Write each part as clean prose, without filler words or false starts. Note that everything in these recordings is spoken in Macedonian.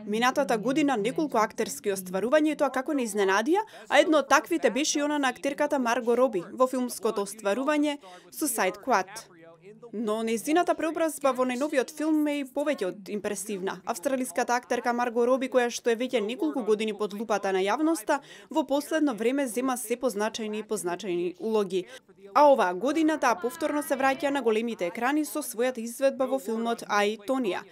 Минатата година неколку актерски остварувања и тоа како не изненадија, а едно од таквите беше и она на актерката Марго Роби во филмското остварување Suicide Squad. Но нејзината преобразба во најновиот филм е и повеќе од импресивна. Австралиската актерка Марго Роби, која што е веќе неколку години под лупата на јавноста, во последно време зема се позначајни улоги. А оваа година таа повторно се враќа на големите екрани со својата изведба во филмот I, Tonya,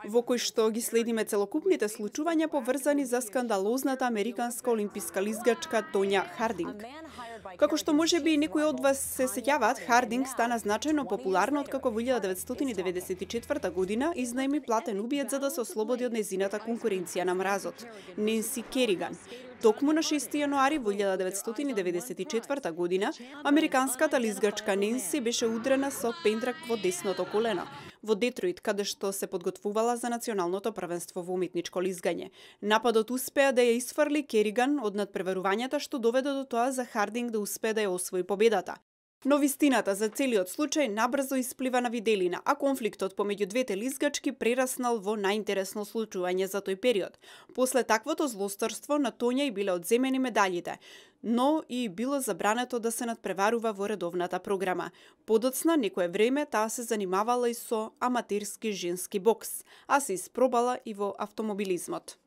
во кој што ги следиме целокупните случувања поврзани за скандалозната американска олимписка лизгачка Тоња Хардинг. Како што можеби некои од вас се сеќаваат, Хардинг стана значајно популарна откако во 1994 година изнајми платен убиец за да се ослободи од нејзината конкуренција на мразот, Ненси Кериган. Токму на 6 јануари во 1994 година, американската лизгачка Ненси беше удрена со пендрак во десното колено во Детройт, каде што се подготвувала за националното првенство во уметничко лизгање. Нападот успеа да ја исфрли Кериган од надпреварувањата, што доведе до тоа за Хардинг да успее да ја освои победата. Но вистината за целиот случај набрзо исплива на виделина, а конфликтот помеѓу двете лизгачки прераснал во најинтересно случување за тој период. После таквото злосторство на Тоња и биле одземени медаљите, но и било забрането да се надпреварува во редовната програма. Подоцна некое време таа се занимавала и со аматерски женски бокс, а се испробала и во автомобилизмот.